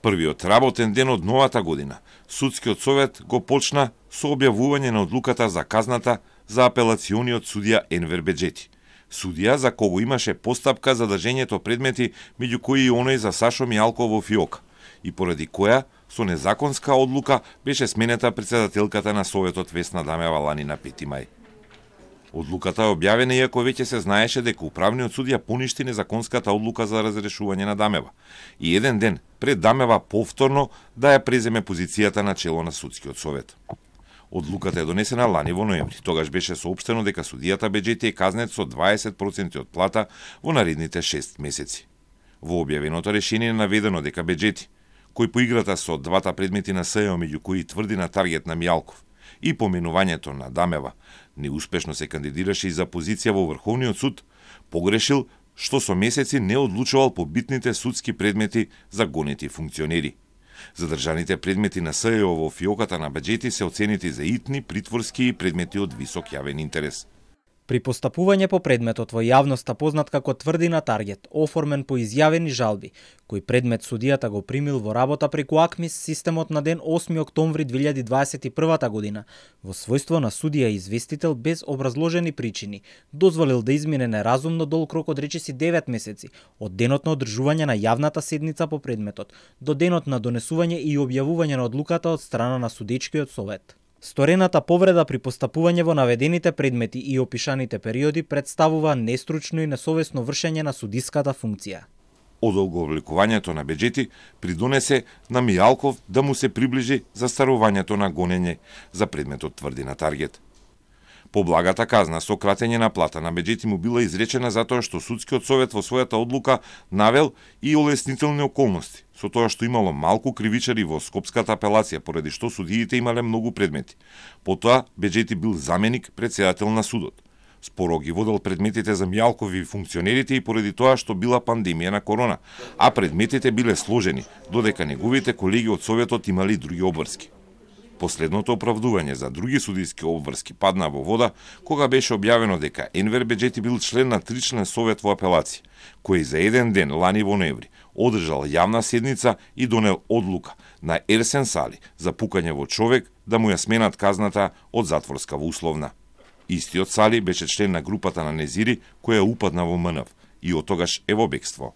Првиот работен ден од новата година, Судскиот совет го почна со објавување на одлуката за казната за апелациониот судија Енвер Беџети. Судија за кого имаше постапка за држењето предмети, меѓу кои и оној за Сашо Мијалков во фиока, и поради која со незаконска одлука беше сменета претседателката на Советот Весна Дамева лани на 5 мај. Одлуката е објавена иако веќе се знаеше дека управниот судија поништи незаконската одлука за разрешување на Дамева и еден ден пред Дамева повторно да ја преземе позицијата на чело на Судскиот совет. Одлуката е донесена лани во ноември. Тогаш беше соопштено дека судијата Беџети е казнет со 20% од плата во наредните 6 месеци. Во објавеното решение е наведено дека Беџети, кој по играта со двата предмети на СЕО, меѓу кои тврди на таргет на Мијалков и поменувањето на Дамева, неуспешно се кандидираше и за позиција во Врховниот суд, погрешил што со месеци не одлучувал по битните судски предмети за гонети функционери. Задржаните предмети на СЕО во фиоката на Беџети се оценети за итни, притворски и предмети од висок јавен интерес. При постапување по предметот во јавноста познат како тврди на таргет, оформен по изјавени жалби, кој предмет судијата го примил во работа преку АКМИС системот на ден 8 октомври 2021 година, во својство на судија известител без образложени причини, дозволил да измине неразумно долг рок од речиси 9 месеци, од денот на одржување на јавната седница по предметот, до денот на донесување и објавување на одлуката од страна на судечкиот совет. Сторената повреда при постапување во наведените предмети и опишаните периоди представува нестручно и несовесно вршење на судиската функција. Одолговлекувањето на Беџети придонесе на Мијалков да му се приближи застарувањето на гонење за предметот тврди на таргет. Поблагата казна со кратење на плата на Беџети му била изречена затоа што Судскиот совет во својата одлука навел и олеснителни околности, со тоа што имало малку кривичари во Скопската апелација, поради што судиите имале многу предмети. Потоа Беџети бил заменик претседател на судот. Споро ги водел предметите за Мијалков и функционерите и поради тоа што била пандемија на корона, а предметите биле сложени, додека неговите колеги од Советот имали други обврски. Последното оправдување за други судиски обврски падна во вода кога беше објавено дека Енвер Беџети бил член на тричлен совет во апелација, кој за еден ден лани во ноември одржал јавна седница и донел одлука на Ерсен Сали за пукање во човек да му ја сменат казната од затворска во условна. Истиот Сали беше член на групата на Незири која упадна во МНВ и од тогаш е во бегство.